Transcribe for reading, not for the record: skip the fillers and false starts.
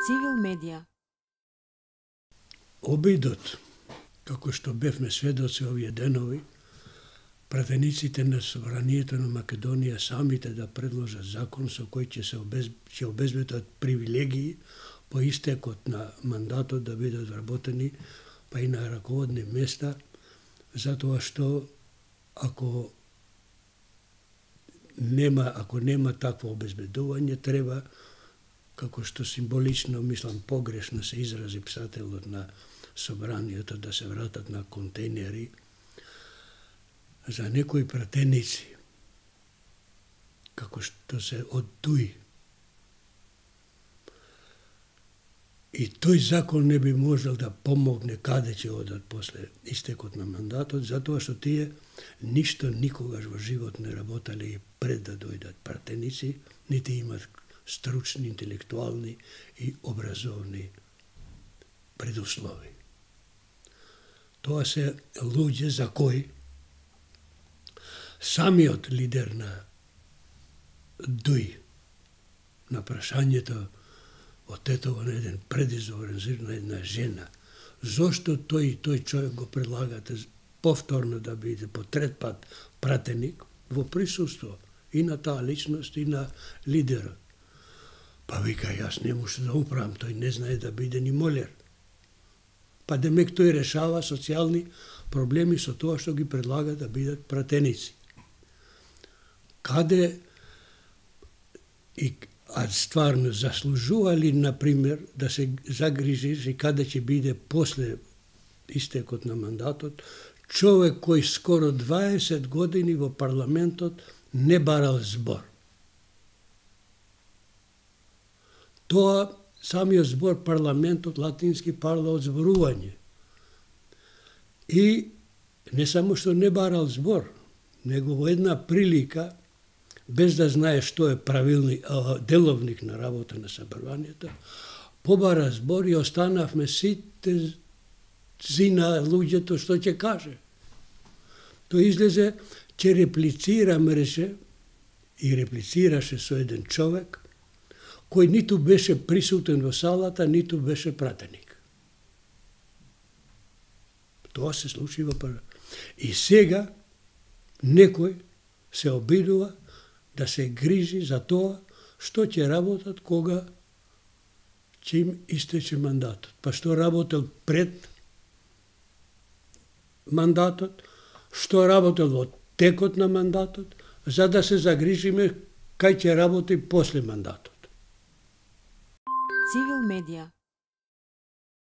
Цивил медија. Обидот, како што бевме сведоци овие денови, пратениците на Собранието на Македонија самите да предложат закон со кој ќе обезбедат привилегии по истекот на мандатот да бидат вработени па и на раководни места, затоа што ако нема такво обезбедување, треба, како што символично, мислам, погрешно се изрази писателот на Собранието, да се вратат на контейнери за некои пратеници, како што се од туи. И тој закон не би можел да помогне каде ќе одат после истекот на мандатот, затоа што тие ништо никогаш во живот не работале и пред да дојдат пратеници, нити имат стручни, интелектуални и образовни предуслови. Тоа се луѓе за кои самиот лидер на ДУИ на прашањето од тетово на еден предизборен зир на една жена, зошто тој човек го предлагате повторно да биде по трет пат пратеник во присуство и на таа личност и на лидерот. Па вика, јас не може да управам, тој не знае да биде ни молер. Па демек тој решава социјални проблеми со тоа што ги предлага да бидат пратеници. Каде а стварно заслужува ли, например, да се загрижиш и каде ќе биде после истекот на мандатот човек кој скоро 20 години во парламентот не барал збор. Тоа самиот збор парламентот латински парла од зборување. И не само што не барал збор, него во една прилика, без да знае што е деловник на работа на Собранието, побара збор и останавме сите на луѓето што ќе каже. Тој излезе, ќе реплицираше и реплицираше со еден човек кој ниту беше присутен во салата, ниту беше пратеник. Тоа се случи во прва. И сега некој се обидува да се грижи за тоа што ќе работат кога ќе им истече мандатот. Па што работел пред мандатот, што работел во текот на мандатот, за да се загрижиме кај ќе работи после мандатот. Цивил медија.